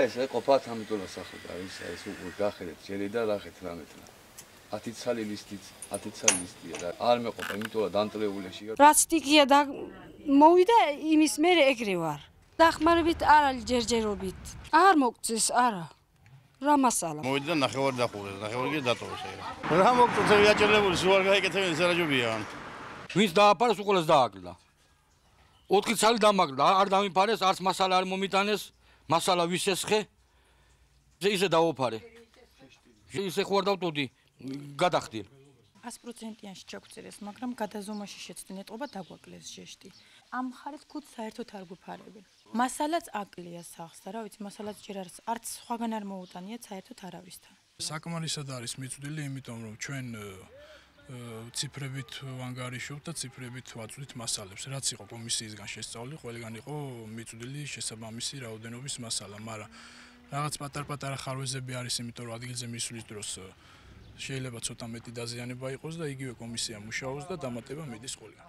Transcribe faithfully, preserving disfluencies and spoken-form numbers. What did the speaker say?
ესე ყოფა თამიტოლა სახე და ის ეს უკვე გახედეთ ჯერი და რახეთ რამეთლა. ათი ცალი ლისტიც, ათი ცალი ლისტია და არ მეყოფა, იმიტომ რომ დამტრეულეში. რაც სტიქია და მოვიდა იმის მერე ეგრე ვარ. დახმარებით არ არის ჯერჯერობით. არ მოგწეს, არა. რა მასალა. მოვიდა ნახევარ დახურეს, ნახევარი კი დატოვეს ეგრე. რა მოგწეს გაჭირებული, სულ არ გაიკეთებენ სერაჯობია. ვინც დააფარეს უყოლეს დააკლა. ოთხი ცალი დამაკლა, არ დამიფარეს, არც მასალა არ მომიტანეს, მასალა ვისესხე. ისე დაოფარე. ისე ხوار დავტოდი, გადახდიე. ას პროცენტიანში ჩაგვწერეს, მაგრამ გადაზომაში შეცდენ ეტყობა დაგვაკლეს ჟეშტი. ამ მხარეს ქუთ საერთოდ არ გვიფარებენ. მასალაც აკლია სახს და რა ვიცი, მასალაც ჯერ არის, არც სხვაგან არ მოუტანიათ საერთოდ არავისთან. საკმარისად არის მიწვდილი, იმიტომ რომ ჩვენ ციფრებით ვანგარიშობთ და ციფრებით ვაწვდით მასალებს. რაც იყო კომისიისგან შესწავლილი, ყველგან იყო მიწვდილი შესაბამისი რაოდენობის მასალა, მაგრამ რაღაც პატარ-პატარა ხარვეზები არის, იმიტომ რომ ადგილზე მისვლის დროს შეიძლება ცოტა მეტი დაზიანება იყოს და იგივე კომისია მუშაობს და დამატება მიდის ყველგან.